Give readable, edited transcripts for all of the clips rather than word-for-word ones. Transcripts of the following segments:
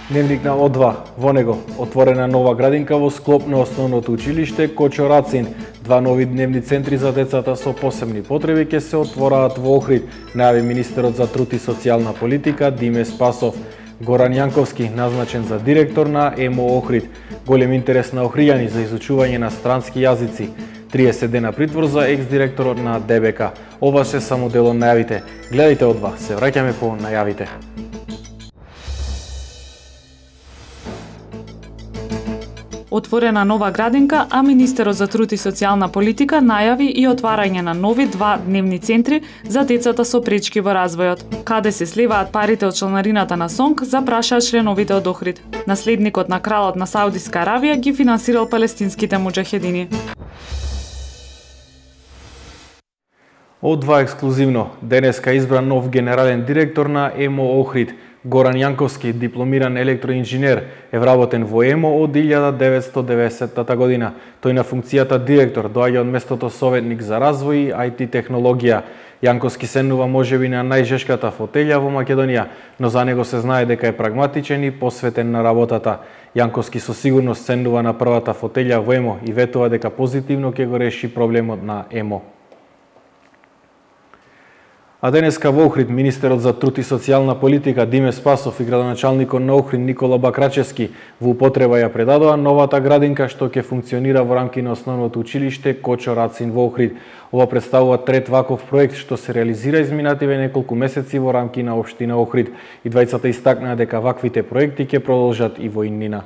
Дневник на О2. Во него отворена нова градинка во склоп на основното училиште Кочо Рацин. Два нови дневни центри за децата со посебни потреби ќе се отвораат во Охрид, најави министерот за труд и социјална политика Диме Спасов. Горан Јанковски назначен за директор на ЕМО Охрид. Голем интерес на охријани за изучување на странски јазици. 30 дена притвор за екс-директорот на ДБК. Ова се само дел од најавите. Гледајте О2, се враќаме по најавите. Отворена нова градинка, а министерот за труд и социјална политика најави и отварање на нови два дневни центри за децата со пречки во развојот. Каде се сливаат парите од чланарината на СОНК, запрашаа членовите од Охрид. Наследникот на кралот на Саудиска Аравија ги финансирал палестинските муџахедини. О2 ексклузивно. Денеска избран нов генерален директор на ЕМО Охрид. Горан Јанковски, дипломиран електроинженер, е вработен во ЕМО од 1990 година. Тој на функцијата директор доаѓа од местото советник за развој и IT технологија. Јанковски седнува можеби на најжешката фотелја во Македонија, но за него се знае дека е прагматичен и посветен на работата. Јанковски со сигурност седнува на првата фотелја во ЕМО и ветува дека позитивно ќе го реши проблемот на ЕМО. А денеска во Охрид министерот за труд и социјална политика Диме Спасов и градоначалникот на Охрид Никола Бакрачевски во употреба ја предадоа новата градинка што ќе функционира во рамки на основното училиште Кочо Рацин во Охрид. Ова представува трет ваков проект што се реализира изминативе неколку месеци во рамки на општина Охрид. И двајцата истакнаа дека ваквите проекти ќе продолжат и во иднина.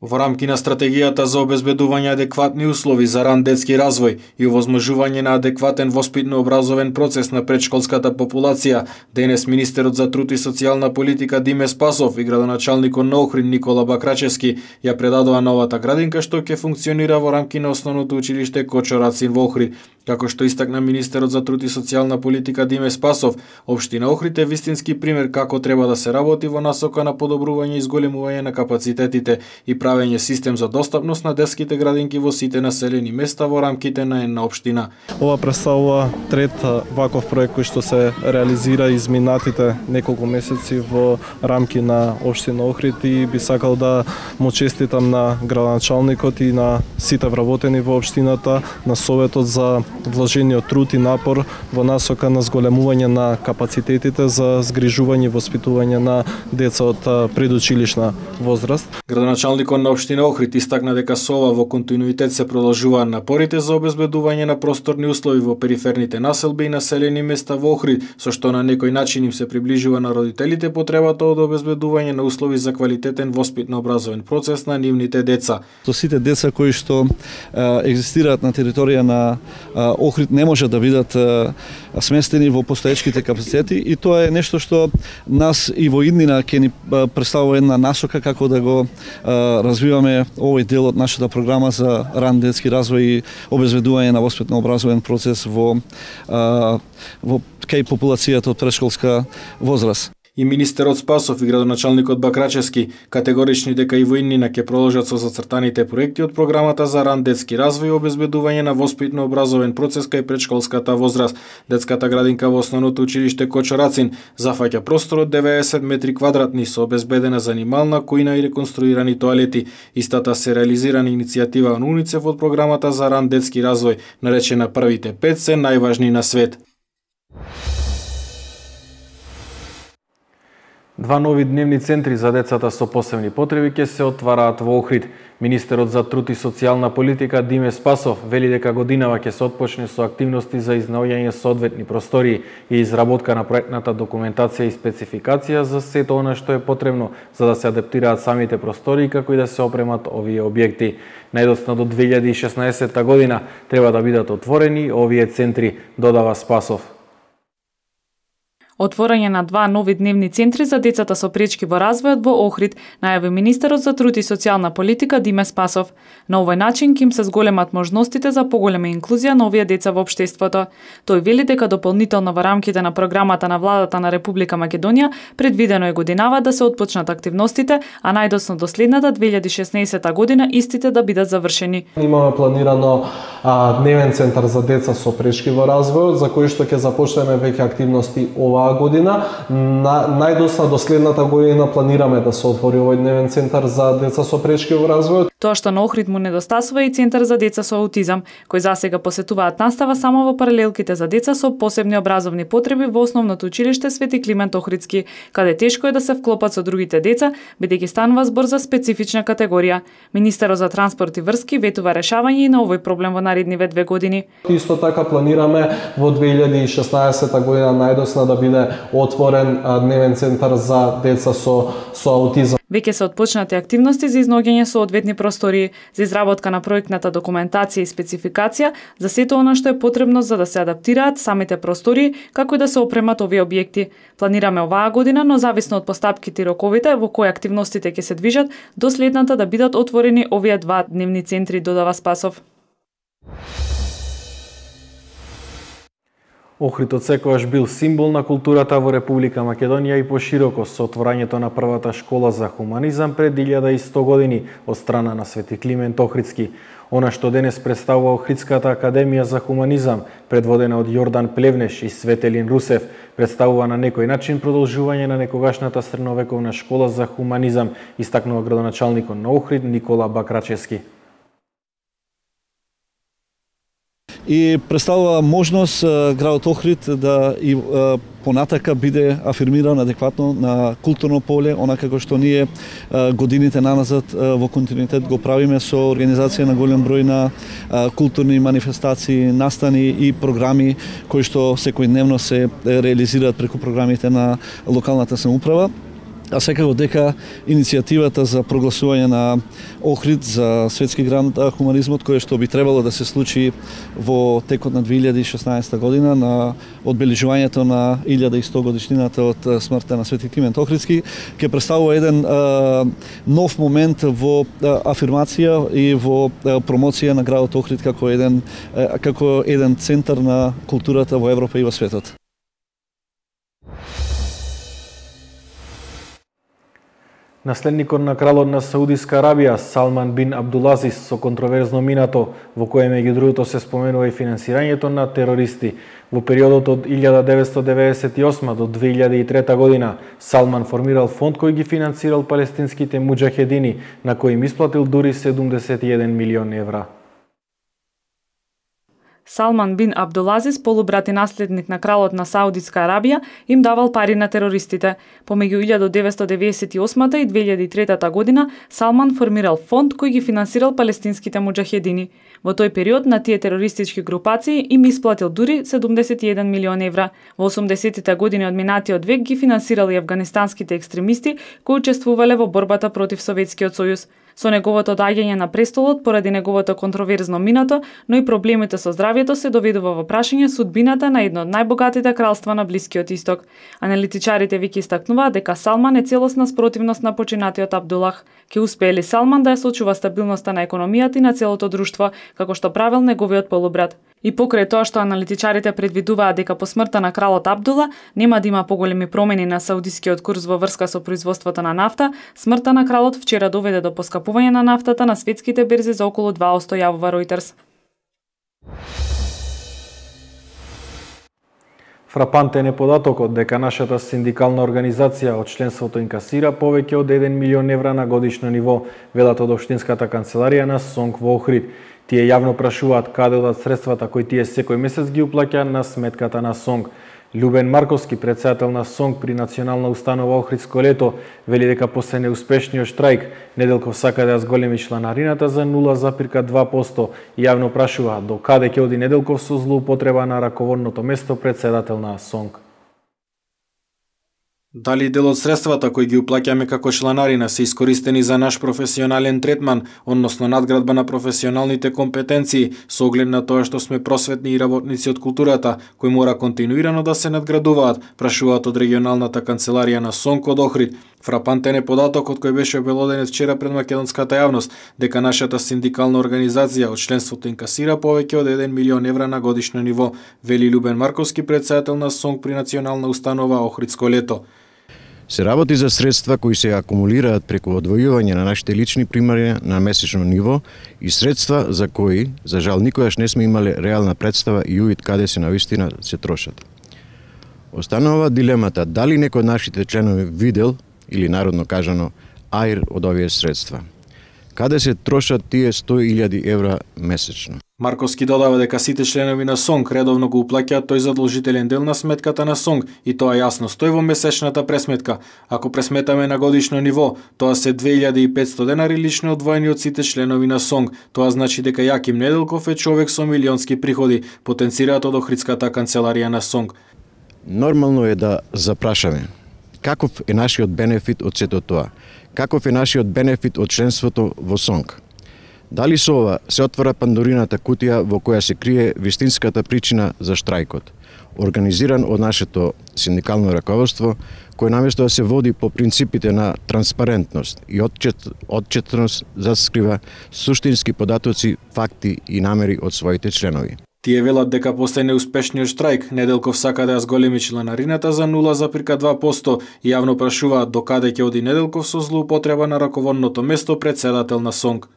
Во рамки на стратегијата за обезбедување адекватни услови за ран детски развој и овозможување на адекватен воспитно-образовен процес на претшколската популација, денес министерот за труд и социјална политика Диме Спасов и градоначалникот на Охрид Никола Бакрачевски ја предадоа новата градинка што ќе функционира во рамки на основното училиште Кочо Рацин во Охрид. Како што истакна министерот за труд и социјална политика Диме Спасов, општина Охрид е вистински пример како треба да се работи во насока на подобрување и зголемување на капацитетите и правење систем за достапност на детските градинки во сите населени места во рамките на една општина. Ова представува трет ваков проект кој што се реализира изминатите неколку месеци во рамки на општина Охрид и би сакал да му честитам на градоначалникот и на сите вработени во општината, на советот за вложениот труд и напор во насока на зголемување на капацитетите за згрижување и воспитување на деца од предучилишна возраст. Градоначалникот на општина Охрид истакна дека со ова во континуитет се продолжуваат напорите за обезбедување на просторни услови во периферните населби и населени места во Охрид, со што на некој начин им се приближува на родителите потребата од обезбедување на услови за квалитетен воспитно-образовен процес на нивните деца. Со сите деца кои што екзистираат на територија на Охрид не може да бидат сместени во постоечките капацитети и тоа е нешто што нас и во иднина ќе ни представува една насока како да го развиваме овој дел од нашата програма за ран детски развој и обезбедување на воспитно-образовен процес во кај популацијата од претшколска возраст. И министерот Спасов и градоначалникот Бакрачевски категорични дека и во иднина ќе продолжат со зацртаните проекти од програмата за ран детски развој и обезбедување на воспитно-образовен процес кај претшколската возраст. Детската градинка во основното училиште Кочо Рацин зафаќа простор од 90 метри квадратни со обезбедена занимална кујна и реконструирани тоалети. Истата се реализира на иницијатива на УНИЦЕФ од програмата за ран детски развој, наречена Првите 5 се најважни на свет. Два нови дневни центри за децата со посебни потреби ќе се отвараат во Охрид. Министерот за труд и социјална политика Диме Спасов вели дека годинава ќе се отпочне со активности за изнаоѓање соодветни простории и изработка на проектната документација и спецификација за сето она што е потребно за да се адаптираат самите простории како и да се опремат овие објекти. Најдоцна до 2016 година треба да бидат отворени овие центри, додава Спасов. Отворање на два нови дневни центри за децата со пречки во развојот во Охрид, најави министерот за труд и социјална политика Диме Спасов. На овој начин ќе им се зголемат можностите за поголема инклузија на овие деца во општеството. Тој вели дека дополнително во рамките на програмата на владата на Република Македонија предвидено е годинава да се отпочнат активностите, а најдоцна до следната 2016 година истите да бидат завршени. Имаме планирано дневен центар за деца со пречки во развојот, за кој што ќе започнеме веќе активности оваа оваа година. Најдосна до следната година планираме да се отвори овој дневен центар за деца со пречки во развојот. Тоа што на Охрид му недостасува и центар за деца со аутизам, кој засега посетуваат настава само во паралелките за деца со посебни образовни потреби во основното училиште Свети Климент Охридски, каде тешко е да се вклопат со другите деца, бидејќи станува збор за специфична категорија. Министерот за транспорт и врски ветува решавање и на овој проблем во наредниве 2 години. Исто така планираме во 2016 година најдосна да биде отворен дневен центар за деца со аутизам. Веќе се отпочнати активности за изнаоѓање соодветни простории, за изработка на проектната документација и спецификација за сето она што е потребно за да се адаптираат самите простории, како и да се опремат овие објекти. Планираме оваа година, но зависно од постапките и роковите во кои активностите ќе се движат, до следната да бидат отворени овие 2 дневни центри, додава Спасов. Охрид одсекогаш бил символ на културата во Република Македонија и пошироко со отворањето на првата школа за хуманизам пред 1100 години од страна на Свети Климент Охридски. Она што денес представува Охридската академија за хуманизам, предводена од Јордан Плевнеш и Светелин Русев, представува на некој начин продолжување на некогашната средновековна школа за хуманизам, истакнува градоначалникот на Охрид Никола Бакрачевски. И представува можност градот Охрид да и понатака биде афирмиран адекватно на културно поле, она како што ние годините наназад во континуитет го правиме со организација на голем број на културни манифестации, настани и програми кои што секојдневно се реализираат преку програмите на локалната самоуправа. А секако дека иницијативата за прогласување на Охрид за светски град хуманизмот, кој што би требало да се случи во текот на 2016 година на одбележувањето на 1100 годишнината од смртта на Свети Климент Охридски, ќе представува еден нов момент во афирмација и во промоција на градот Охрид како еден центар на културата во Европа и во светот. Наследникот на кралот на Саудиска Арабија, Салман бин Абдулазис, со контроверзно минато, во кое меѓу другото се споменува и финансирањето на терористи. Во периодот од 1998 до 2003 година, Салман формирал фонд кој ги финансирал палестинските муџахедини, на кои им исплатил дури 71 милион евра. Салман бин Абдулазис, полубрат и наследник на кралот на Саудитска Арабија, им давал пари на терористите. Помеѓу 1998 и 2003 година, Салман формирал фонд кој ги финансирал палестинските муџахедини. Во тој период на тие терористички групации им исплатил дури 71 милион евра. Во 80-тите години од минатиот век ги финансирал и афганистанските екстремисти кои учествувале во борбата против Советскиот сојуз. Со неговото доаѓање на престолот, поради неговото контроверзно минато, но и проблемите со здравјето, се доведува во прашање судбината на едно од најбогатите кралства на Блискиот Исток. Аналитичарите веќе истакнуваат дека Салман е целосна спротивност на починатиот Абдулах. Ке успее ли Салман да ја сочува стабилноста на економијата и на целото друштво, како што правил неговиот полубрат? И покрај тоа што аналитичарите предвидуваат дека по смртта на кралот Абдула нема да има поголеми промени на саудискиот курс во врска со производството на нафта, смртта на кралот вчера доведе до поскапување на нафтата на светските берзи за околу 2%, јавува Reuters. Фрапантен е податокот дека нашата синдикална организација од членството инкасира повеќе од 1 милион евра на годишно ниво, велат од Општинската канцеларија на СОНК во Охрид. Тие јавно прашуваат каде одат средствата кои тие секој месец ги уплаќаат на сметката на СОНК. Љубен Марковски, председател на СОНК при Национална установа Охридско лето, вели дека после неуспешниот штрајк, Неделков сака да ја зголеми чланарината за 0,2% и јавно прашува до каде ќе оди Неделков со злоупотреба на раководното место председател на СОНК. Дали дел од средствата кои ги уплаќаме како чланарина се искористени за наш професионален третман, односно надградба на професионалните компетенции, со оглед на тоа што сме просветни и работници од културата, кои мора континуирано да се надградуваат, прашуваат од регионалната канцеларија на СОНК од Охрид. Фрапантен е податокот кој беше обелоденет вчера пред македонската јавност, дека нашата синдикална организација од членството инкасира повеќе од 1 милион евра на годишно ниво, вели Љубен Марковски, председател на СОНК при Национална установа Охридско лето. Се работи за средства кои се акумулираат преку одвојување на нашите лични примари на месечно ниво и средства за кои, за жал, никогаш не сме имале реална представа и увид каде се навистина се трошат. Останува дилемата дали некој од нашите членови видел, или народно кажано, аир од овие средства. Каде се трошат тие 100.000 евра месечно? Марковски додава дека сите членови на СОНГ редовно го уплаќаат тој задолжителен дел на сметката на СОНГ и тоа јасно стои во месечната пресметка. Ако пресметаме на годишно ниво, тоа се 2500 денари лично одвоени од сите членови на СОНГ. Тоа значи дека Јаким Неделков е човек со милионски приходи, потенцираат од Охридската канцеларија на СОНГ. Нормално е да запрашаме каков е нашиот бенефит од сето тоа? Каков е нашиот бенефит од членството во СОНГ? Дали со ова се отвора пандорината кутија во која се крие вистинската причина за штрајкот, организиран од нашето синдикално раководство, кој наместо да се води по принципите на транспарентност и отчетност заскрива суштински податоци, факти и намери од своите членови. Тие велат дека после неуспешниот штрајк, Неделков сака да ја зголеми чланарината за 0,2% и јавно прашуваат докаде ќе оди Неделков со злоупотреба на раководното место председател на СОНГ.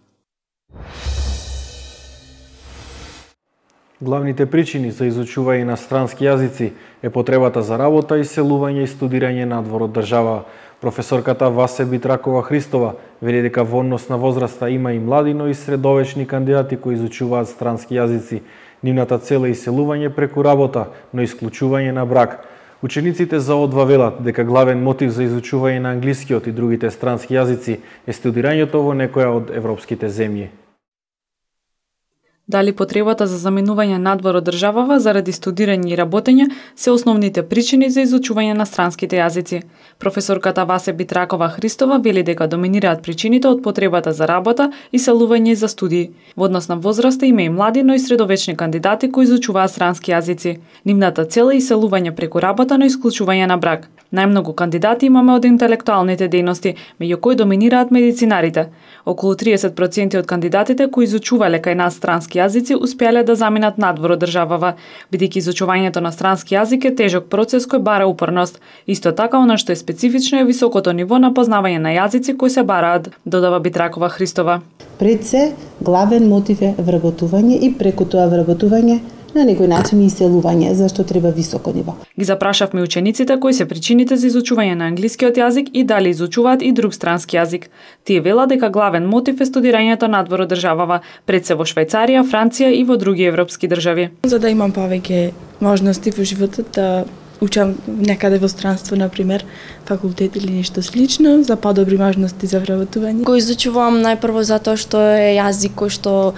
Главните причини за изучување на странски јазици е потребата за работа, иселување и студирање надвор од држава. Професорката Васе Битракова Христова вели дека во однос на возраста има и млади, но и средовечни кандидати кои изучуваат странски јазици. Нивната цел е иселување преку работа, но исклучување на брак. Учениците за ОДВА велат дека главен мотив за изучување на англискиот и другите странски јазици е студирањето во некоја од европските земји. Дали потребата за заменување надвор од државава заради студирање и работење се основните причини за изучување на странските јазици. Професорката Васе Битракова Христова вели дека доминираат причините од потребата за работа, иселување и за студии. Во однос на возраста има и млади, но и средовечни кандидати кои изучуваат странски јазици. Нивната цел е иселување преку работа, но исклучување на брак. Најмногу кандидати имаме од интелектуалните дејности, меѓу кои доминираат медицинарите. Околу 30% од кандидатите кои изучувале кај нас странски јазици успеале да заминат надвор од државава, бидејќи изучувањето на странски јазик е тежок процес кој бара упорност. Исто така, она што е специфично е високото ниво на познавање на јазици кои се бараат, додава Битракова Христова. Пред се, главен мотив е вработување и преку тоа вработување на некој начин и иселување, зашто треба високо ниво. Ги запрашавме учениците кои се причините за изучување на англискиот јазик и дали изучуваат и друг странски јазик. Тие велат дека главен мотив е студирањето надвор од државава, пред се во Швајцарија, Франција и во други европски држави. За да имам повеќе можности во животот да учам некаде во странство, например, факултет или нешто слично, за подобри можности за вработување. Го изучувам најпрво затоа што е јазик кој што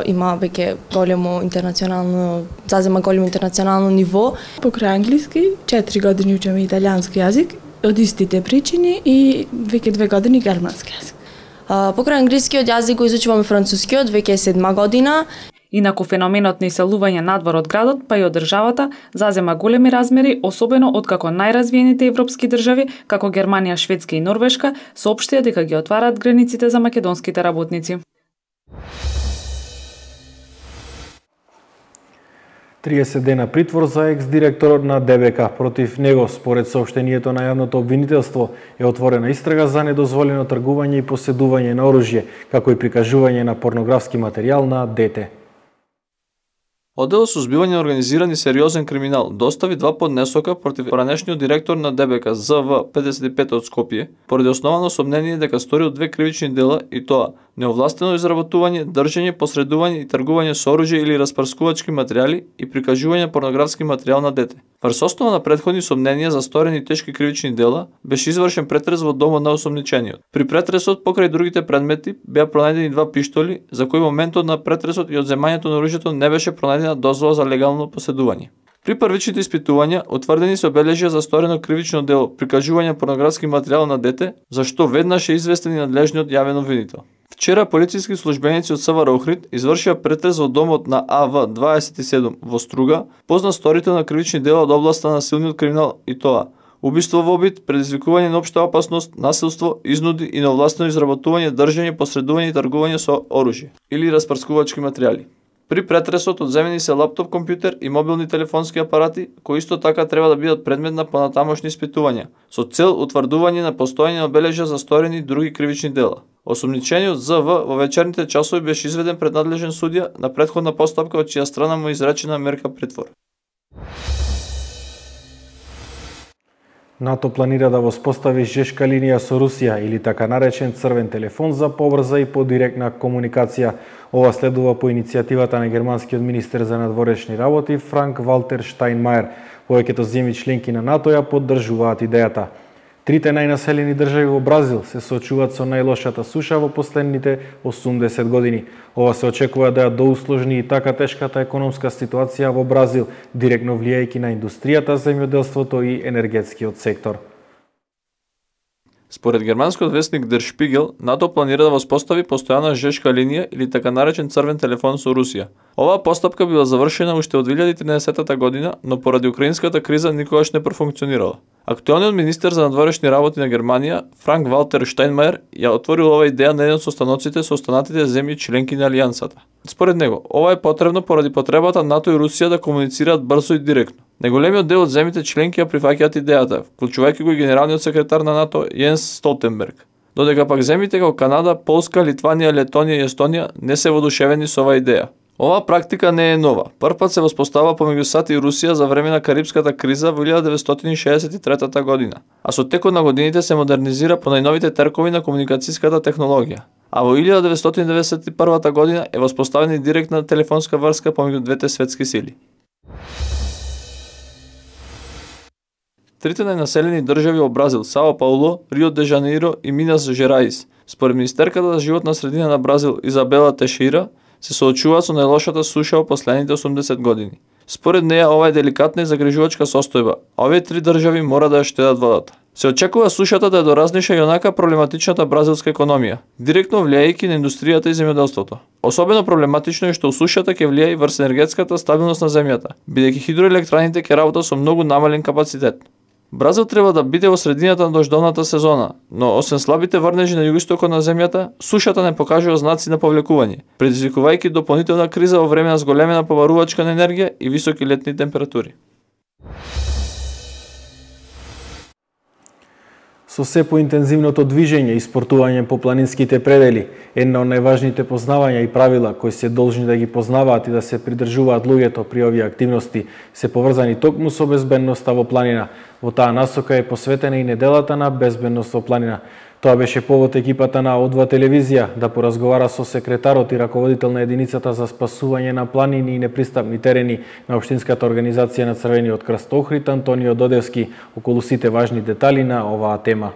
има веќе големо интернационално, зазема големо интернационално ниво. Покрај англиски, 4 години учам италијански јазик, од истите причини и веќе 2 години германски јазик. Покрај англискиот јазик го изучувам францускиот, веќе е 7 година. Инаку феноменот на иселување надвор од градот, па и од државата, зазема големи размери, особено откако најразвиените европски држави, како Германија, Шведска и Норвешка, соопштија дека ги отвараат границите за македонските работници. 30 дена притвор за екс-директорот на ДБК. Против него, според соопштението на јавното обвинителство, е отворена истрага за недозволено тргување и поседување на оружје, како и прикажување на порнографски материјал на дете. Оддел сузбивање на организиран и сериозен криминал достави 2 поднесока против ранешниот директор на ДБК ЗВ 55 од Скопје, поради основано сомнение дека сторил 2 кривични дела и тоа неовластено изработување, држење, посредување и тргување со оружје или распарскувачки материјали и прикажување порнографски материјал на дете. Врз основа на претходни сомненија за сторени тешки кривични дела, беше извршен претрес во домот на осомничениот. При претресот покрај другите предмети беа пронајдени 2 пиштоли, за кои моментот на претресот и одземањето на оружјето не беше пронајдена дозвола за легално поседување. При првичните испитувања утврдени се обележја за сторено кривично дело прикажување порнографски материјал на дете, за што веднаш е известен и надлежниот јавен обвинител. Вчера полициски службеници од СВР Охрид извршија претрес во домот на АВ27 во Струга, познат сторител на кривични дела од областа на силниот криминал и тоа убиство во обид, предизвикување на општа опасност, насилство, изнуди и неовластено изработување, држење, посредување и тргување со оружје или распарскувачки материјали. При претресот одземени се лаптоп компјутер и мобилни телефонски апарати, кои исто така треба да бидат предмет на понатамошни испитувања, со цел утврдување на постоење на обележја за сторени други кривични дела. Осомничениот ЗВ во вечерните часови беше изведен пред надлежен судија на претходна постапка од чија страна му изречена мерка притвор. НАТО планира да воспостави жешка линија со Русија или така наречен црвен телефон за побрза и подиректна комуникација. Ова следува по иницијативата на германскиот министер за надворешни работи Франк Валтер Штајнмајер. Повеќето земји членки на НАТО ја поддржуваат идејата. Трите најнаселени држави во Бразил се соочуваат со најлошата суша во последните 80 години. Ова се очекува да ја доусложни и така тешката економска ситуација во Бразил, директно влијајќи на индустријата, земјоделството и енергетскиот сектор. Според германскиот весник Der Spiegel, НАТО планира да воспостави постојана жешка линија или така наречен црвен телефон со Русија. Оваа постапка била завршена уште од 2013 година, но поради украинската криза никогаш не профункционирала. Актуелниот министер за надворешни работи на Германија, Франк Валтер Штајнмајер, ја отворил ова идеја на еден од состаноците со останатите земји членки на Алијансата. Според него, ова е потребно поради потребата НАТО и Русија да комуницираат брзо и директно. Најголемиот дел од земјите членки ја прифаќаат идејата, вклучувајќи го и генералниот секретар на НАТО Јенс Столтенберг. Додека пак земјите како Канада, Полска, Литванија, Летонија и Естонија не се воодушевени со оваа идеја. Оваа практика не е нова. Првпат се воспоставила помеѓу САД и Русија за време на Карипската криза во 1963 година, а со текот на годините се модернизира по најновите теркови на комуникацијската технологија. А во 1991 година е воспоставена и директна телефонска врска помеѓу двете светски сили. Трите најнаселени држави во Бразил, Сао Пауло, Рио де Жанеиро и Минас Жераис, според министерката за животна средина на Бразил Изабела Тешира, се соочуваат со најлошата суша во последните 80 години. Според неја ова е деликатна и загрижувачка состојба, а овие три држави мора да ја штедат водата. Се очекува сушата да ја доразниша и онака проблематичната бразилска економија, директно влијајќи на индустријата и земјоделството. Особено проблематично е што сушата ќе влијае врз енергетската стабилност на земјата, бидејќи хидроелектраните ќе работат со многу намален капацитет. Бразил треба да биде во средината на дождовната сезона, но освен слабите врнежи на југоистокот на земјата, сушата не покажува знаци на повлекување, предизвикувајќи дополнителна криза во време на зголемена поварувачка на енергија и високи летни температури. Со се поинтензивното движење и спортување по планинските предели, една од најважните познавања и правила кои се должни да ги познаваат и да се придржуваат луѓето при овие активности се поврзани токму со безбедноста во планина. Во таа насока е посветена и неделата на безбедност во планина. Тоа беше повод екипата на О2 телевизија да поразговара со секретарот и раководител на единицата за спасување на планини и непристапни терени на Општинската организација на Црвениот крст Охрид Антонио Додевски околу сите важни детали на оваа тема.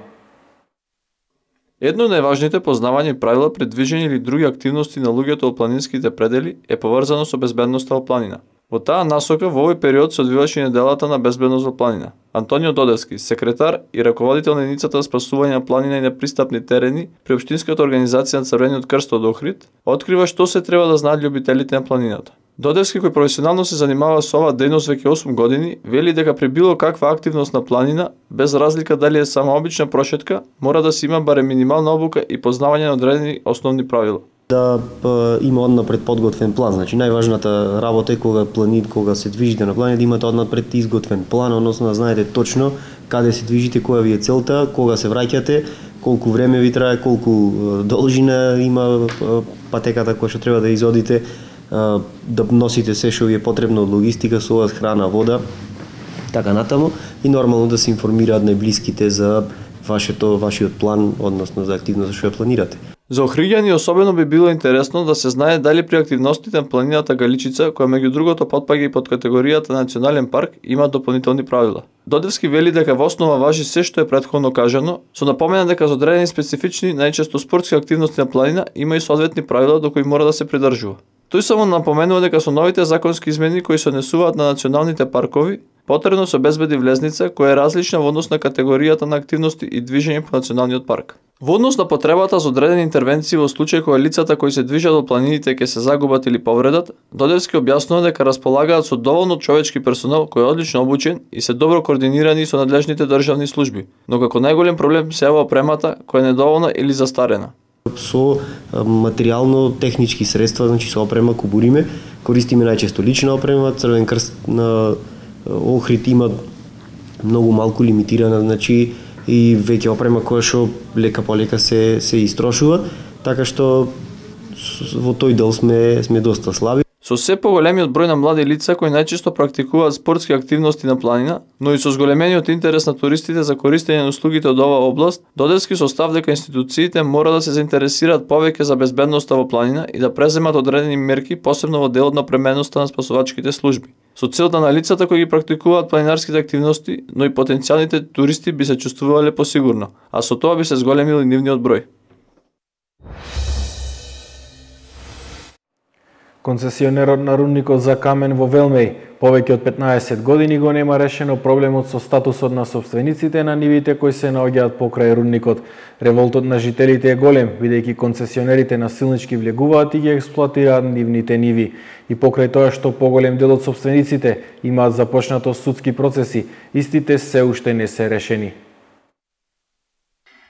Едно од најважните познавања и правила при движење или други активности на луѓето од планинските предели е поврзано со безбедноста во планина. Во таа насока во овој период се одвиваше неделата на безбедност во планина. Антонио Додевски, секретар и раководител на единицата за спасување на планина и непристапни терени при Општинската организација на Црвениот крст од Охрид, открива што се треба да знаат љубителите на планината. Додевски, кој професионално се занимава со оваа дејност веќе 8 години, вели дека при било каква активност на планина, без разлика дали е само обична прошетка, мора да се има барем минимална обука и познавање на одредени основни правила. Да има однапред подготвен план. Значи најважната работа е кога се движите на планина да имате однапред изготвен план, односно да знаете точно каде се движите, која ви е целта, кога се враќате, колку време ви трае, колку должина има патеката која што треба да изодите, да носите се што ви е потребно од логистика, со храна, вода, така натаму и нормално да се информираат најблиските за вашиот план, односно за активност што ја планирате. За охриѓани особено би било интересно да се знае дали при активностите на планината Галичица, која меѓу другото потпаѓа и под категоријата национален парк, има дополнителни правила. Додевски вели дека во основа важи се што е претходно кажано, со напомена дека за одредени специфични, најчесто спортски активности на планина има и соодветни правила до кои мора да се придржува. Тој само напоменува дека со новите законски измени кои се однесуваат на националните паркови, потребно се обезбеди влезница која е различна во однос на категоријата на активности и движење по националниот парк. Во однос на потребата за одредени интервенции во случај кога лицата кои се движат во планините ќе се загубат или повредат, Додевски објаснува дека располагаат со доволно човечки персонал кој е одлично обучен и се добро координирани со надлежните државни служби, но како најголем проблем се јава опремата која е недоволна или застарена. Со материјално-технички средства, значи со опрема кубуриме, користиме најчесто лична опрема. Црвен крст на Охрид има многу малку лимитирана, значи и веќе опрема која што лека по лека се истрошува, така што во тој дел сме доста слаби. Со се поголемиот број на млади лица кои најчесто практикуваат спортски активности на планина, но и со зголемениот интерес на туристите за користење на услугите од оваа област, додески со став дека институциите мора да се заинтересираат повеќе за безбедноста во планина и да преземат одредени мерки, посебно во делот на пременоста на спасувачките служби. Со целта на лицата кои ги практикуваат планинарските активности, но и потенцијалните туристи би се чувствувале посигурно, а со тоа би се зголемил и нивниот број. Концесионерот на рудникот за камен во Велмеј повеќе од 15 години го нема решено проблемот со статусот на собствениците на нивите кои се наоѓаат покрај рудникот. Револтот на жителите е голем, бидејќи концесионерите насилнички влегуваат и ги експлоатираат нивните ниви. И покрај тоа што поголем дел од собствениците имаат започнато судски процеси, истите се уште не се решени.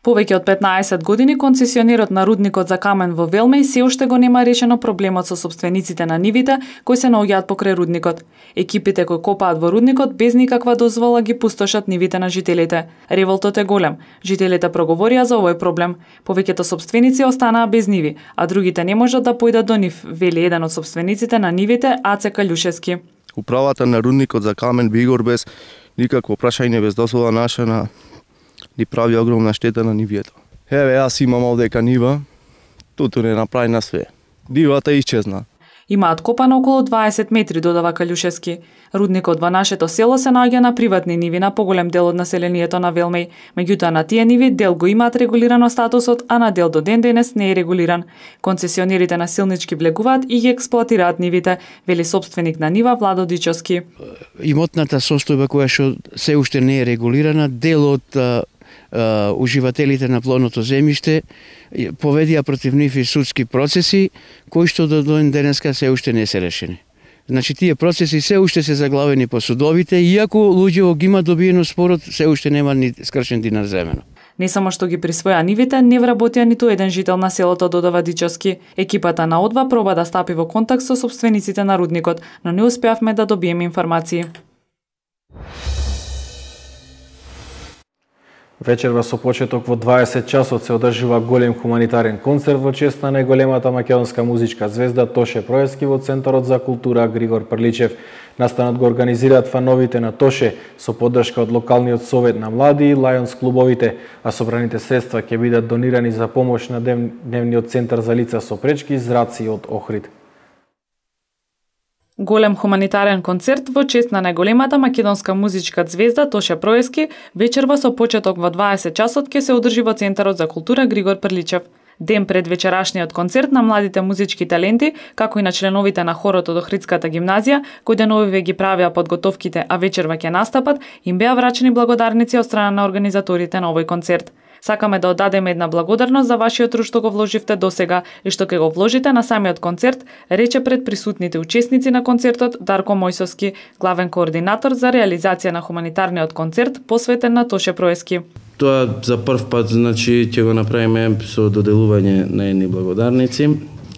Повеќе од 15 години концесионерот на рудникот за камен во Велмеј се уште го нема решено проблемот со собствениците на нивите кои се наоѓаат покрај рудникот. Екипите кои копаат во рудникот без никаква дозвола ги пустошат нивите на жителите. Револтот е голем. Жителите проговорија за овој проблем. Повеќето собственици останаа без ниви, а другите не можат да појдат до нив, вели еден од собствениците на нивите, Аце Калјушевски. Управата на рудникот за камен Бигор без никакво прашање, без дозвола наша ни прави огромна штета на нивието. Еве, јас имам овдека нива, туту не направи на све. Нивата исчезна. Имаат копано околу 20 метри, додава Калјушевски. Рудникот во нашето село се наоѓа на приватни ниви на поголем дел од населението на Велмеј. Меѓутоа на тие ниви дел го имаат регулирано статусот, а на дел до ден денес не е регулиран. Концесионерите насилнички влегуваат и ги експлоатираат нивите, вели собственик на нива Владо Дичовски. Имотната состојба која што се уште не е регулирана, дел од уживателите на плодното земјиште поведија против нив и судски процеси кои што до ден денеска се уште не се решени. Значи тие процеси се уште се заглавени по судовите, иако луѓе ги има добиено спорот, се уште нема ни скршен динар земено. Не само што ги присвоја нивите, не вработија ниту еден жител на селото, додава Дичовски. Екипата на ОДВА проба да стапи во контакт со собствениците на рудникот, но не успеавме да добиеме информации. Вечерва со почеток во 20 часот се одржува голем хуманитарен концерт во чест на најголемата македонска музичка звезда Тоше Проевски во Центарот за култура Григор Прличев. Настанот го организираат фановите на Тоше со поддршка од локалниот совет на млади и Лајонс клубовите, а собраните средства ќе бидат донирани за помош на дневниот центар за лица со пречки зраци од Охрид. Голем хуманитарен концерт во чест на најголемата македонска музичка звезда Тоше Проевски вечерва со почеток во 20 часот ќе се одржи во Центарот за култура Григор Прличев. Ден пред вечерашниот концерт на младите музички таленти, како и на членовите на хорот од Охридската гимназија, кои деновиве ги правеа подготовките, а вечерва ќе настапат, им беа врачени благодарници од страна на организаторите на овој концерт. Сакаме да оддадеме една благодарност за вашиот труд што го вложивте досега и што ќе го вложите на самиот концерт, рече пред присутните учесници на концертот Дарко Мојсовски, главен координатор за реализација на хуманитарниот концерт посветен на Тоше Проевски. Тоа за прв пат, значи, ќе го направиме со доделување на едни благодарници,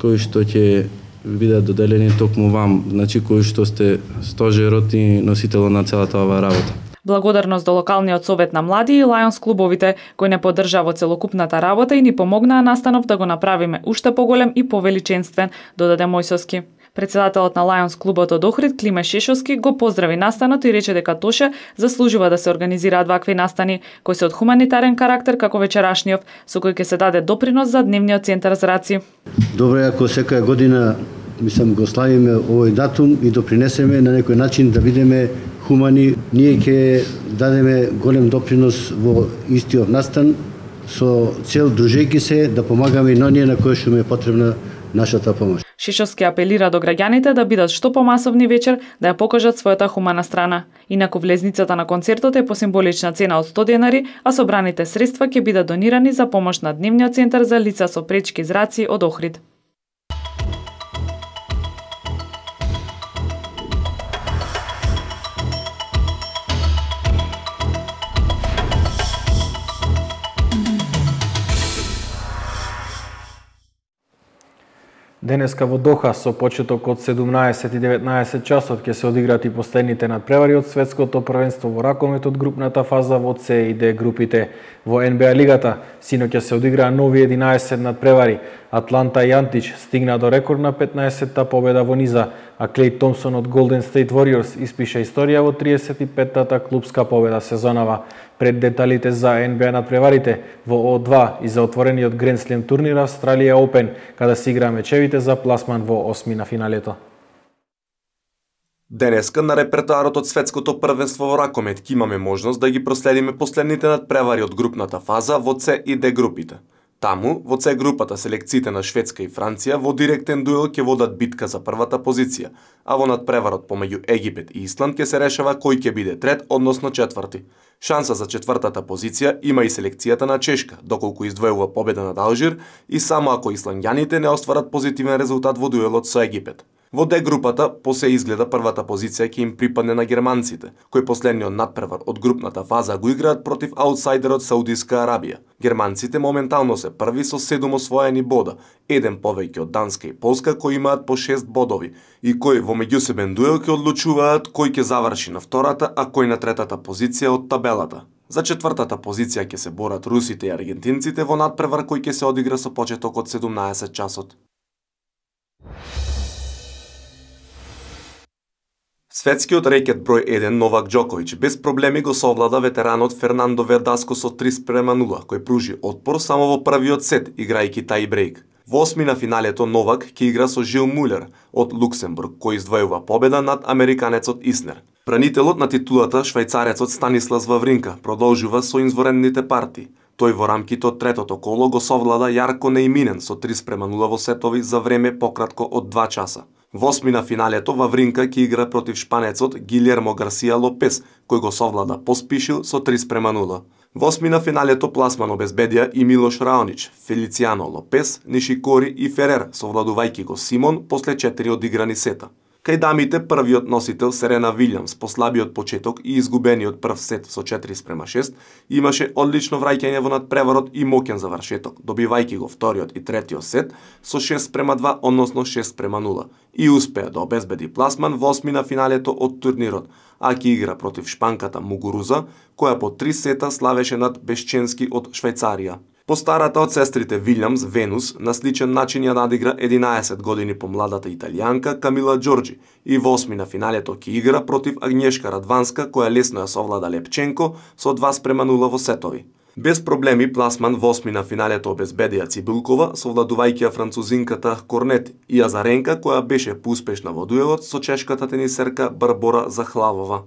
кои што ќе бидат доделени токму вам, значи кои што сте стожерот и носителот на целата оваа работа. Благодарност до локалниот совет на млади и Лајонс клубовите, кои не поддржа во целокупната работа и ни помогнаа настанов да го направиме уште поголем и повеличенствен, додаде Мојсовски. Председателот на Лајонс клубот од Охрид, Климе Шешовски, го поздрави настанот и рече дека Тоше заслужува да се организираат вакви настани, кои се од хуманитарен карактер како вечерашниот, со кој ќе се даде допринос за дневниот центар зраци. Добро е ако секоја година го славиме овој датум и допринесеме на некој начин да бидеме хумани. Ние ќе дадеме голем допринос во истиот настан со цел дружејќи се да помагаме и на оние на кои што им е потребна нашата помош. Шишовски апелира до граѓаните да бидат што помасовни вечер, да ја покажат својата хумана страна. Инаку влезницата на концертот е по символична цена од 100 денари, а собраните средства ќе бидат донирани за помош на дневниот центар за лица со пречки зраци од Охрид. Денеска во Доха со почеток од 17 и 19 часот ќе се одиграат и последните надпревари од светското првенство во ракомет од групната фаза во С и Д групите. Во НБА лигата синоќ ќе се одиграа нови 11 надпревари. Атланта и Антич стигна до рекордна 15-та победа во низа, а Клей Томсон од Golden State Warriors испиша историја во 35-тата клубска победа сезонава. Пред деталите за NBA надпреварите во O2 и за отворениот Grand Slam турнир Австралија Open, каде се игра мечевите за пласман во осми на финалето. Денеска на репертоарот од светското првенство во ракомет ќе имаме можност да ги проследиме последните надпревари од групната фаза во С и Д групите. Таму, во С групата, селекциите на Шведска и Франција во директен дуел ќе водат битка за првата позиција, а во надпреварот помеѓу Египет и Исланд ќе се решава кој ќе биде трет, односно четврти. Шанса за четвртата позиција има и селекцијата на Чешка, доколку издвојува победа над Алжир и само ако исландјаните не остварат позитивен резултат во дуелот со Египет. Во Д групата, по се изгледа првата позиција ќе им припадне на германците, кои последниот надпревар од групната фаза го играат против аутсайдерот Саудиска Арабија. Германците моментално се први со 7 освоени бода, еден повеќе од Данска и Полска кои имаат по 6 бодови и кои во меѓусебен дуел ќе одлучуваат кој ќе заврши на втората, а кој на третата позиција од табелата. За четвртата позиција ќе се борат русите и аргентинците во надпревар кој ќе се одигра со почеток од 17 часот. Светскиот рекет број 1 Новак Џоковиќ без проблеми го совлада ветеранот Фернандо Вердаско со 3:0, кој пружи отпор само во првиот сет, играјќи тај-брейк. Во осми на финалето Новак ќе игра со Жил Мулер од Луксембург, кој издвојува победа над американецот Иснер. Бранителот на титулата, швајцарецот Станислас Вавринка, продолжува со изворените партии. Тој во рамките од третото коло го совлада Јарко Неиминен со 3:0 во сетови за време пократко од 2 часа. Во осми на финалето Вавринка ќе игра против шпанецот Гилермо Гарсија Лопес, кој го совлада Поспишил со 3:0. Во осми на финалето пласман обезбедија и Милош Раонич, Фелицијано Лопес, Нишикори и Ферер, совладувајќи го Симон после 4 одиграни сета. Кај дамите првиот носител Серена Вилјамс по слабиот почеток и изгубениот прв сет со 4:6 имаше одлично враќање во надпреварот и моќен завршеток, добивајќи го вториот и третиот сет со 6:2, односно 6:0 и успеа да обезбеди пласман во осми на финалето од турнирот, а ќе игра против шпанката Мугуруза, која по 3 сета славеше над Бешченски од Швајцарија. Постарата од сестрите Вилјамс, Венус, на сличен начин ја надигра 11 години помладата италијанка Камила Џорџи и во осми на финалето ќе игра против Агњешка Радванска, која лесно ја совлада Лепченко со 2:0 во сетови. Без проблеми пласман во осми на финалето обезбедија Цибулкова, совладувајќи ја французинката Корнет и Азаренка, која беше поуспешна во дуелот со чешката тенисерка Барбора Захлавова.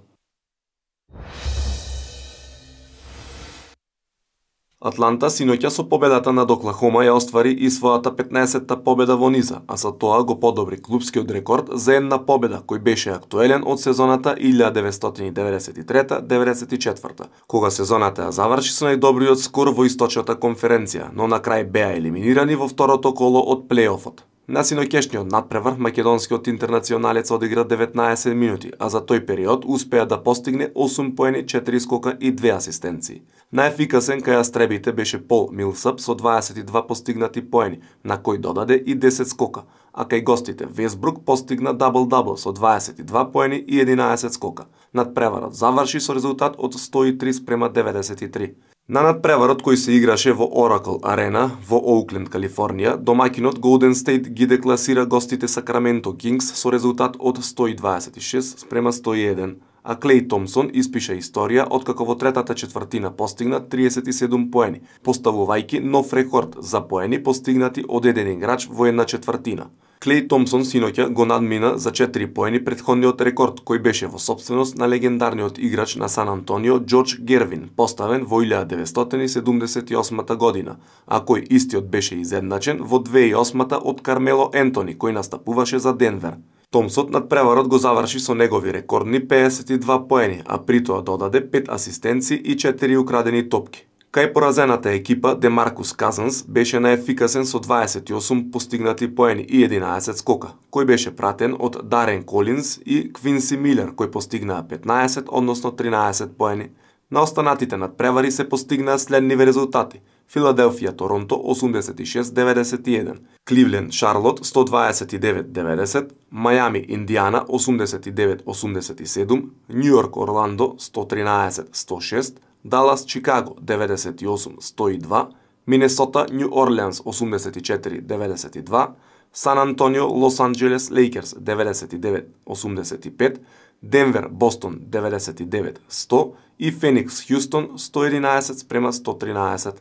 Атланта синоќа со победата над Оклахома ја оствари и својата 15-та победа во низа, а со тоа го подобри клупскиот рекорд за една победа кој беше актуелен од сезоната 1993-94, кога сезоната ја заврши со најдобриот скор во источната конференција, но на крај беа елиминирани во второто коло од плејофот. На синоќешниот надпревар македонскиот интернационалец одигра 19 минути, а за тој период успеа да постигне 8 поени, 4 скока и 2 асистенции. Најефикасен кај астребите беше Пол Милсап со 22 постигнати поени, на кој додаде и 10 скока, а кај гостите Весбрук постигна дабл-дабл со 22 поени и 11 скока. Надпреварот заврши со резултат од 103:93. На надпреварот кој се играше во Oracle Арена во Оукленд, Калифорнија, домаќинот Golden State ги декласира гостите Сакраменто Кингс со резултат од 126:101, а Клей Томсон испиша историја откако во третата четвртина постигна 37 поени, поставувајќи нов рекорд за поени постигнати од еден играч во една четвртина. Клей Томсон синоќа го надмина за 4 поени претходниот рекорд кој беше во собственост на легендарниот играч на Сан Антонио Џорџ Гервин, поставен во 1978 година, а кој истиот беше изедначен во 2008 од Кармело Ентони кој настапуваше за Денвер. Томсот надпреварот го заврши со негови рекордни 52 поени, а при тоа додаде 5 асистенции и 4 украдени топки. Кај поразената екипа, Демаркус Казанс беше најефикасен со 28 постигнати поени и 11 скока, кој беше пратен од Дарен Колинс и Квинси Милер, кој постигнаа 15, односно 13 поени. На останатите надпревари се постигнаа следниви резултати. Филаделфија Торонто 86-91, Кливленд Шарлот 129-90, Мајами Индиана 89-87, Њујорк Орландо 113-106, Далас Чикаго 98-102, Минесота Њу Орлеанс 84-92, Сан Антонио, Лос Анџелес, Лейкерс 99-85, Денвер, Бостон 99-100 и Феникс, Хјустон 111-113.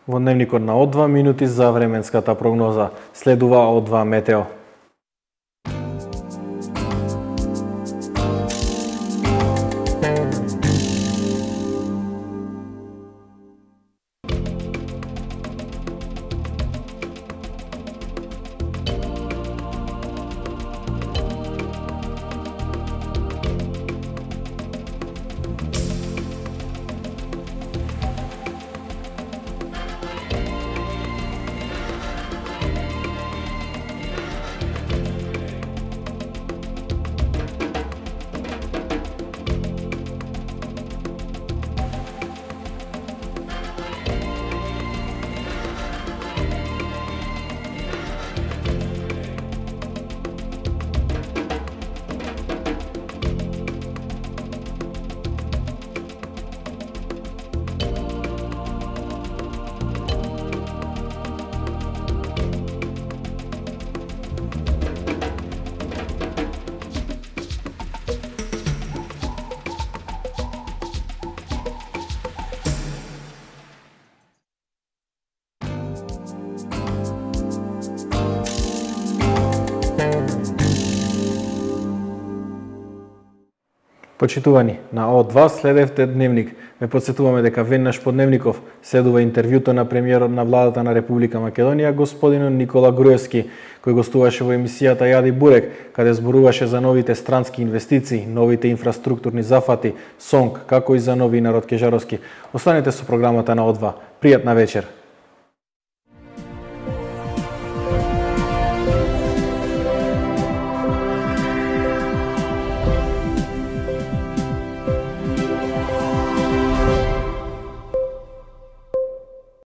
Во дневникот на О2 минути за временската прогноза. Следува О2 метео. Почитувани, на О2 следевте дневник. Ве подсетуваме дека веднаш по дневников следува интервјуто на премиерот на владата на Република Македонија, господинот Никола Груевски, кој гостуваше во емисијата Јади Бурек, каде зборуваше за новите странски инвестиции, новите инфраструктурни зафати, СОНК, како и за нови Народ Кежаровски. Останете со програмата на О2. Пријатна вечер.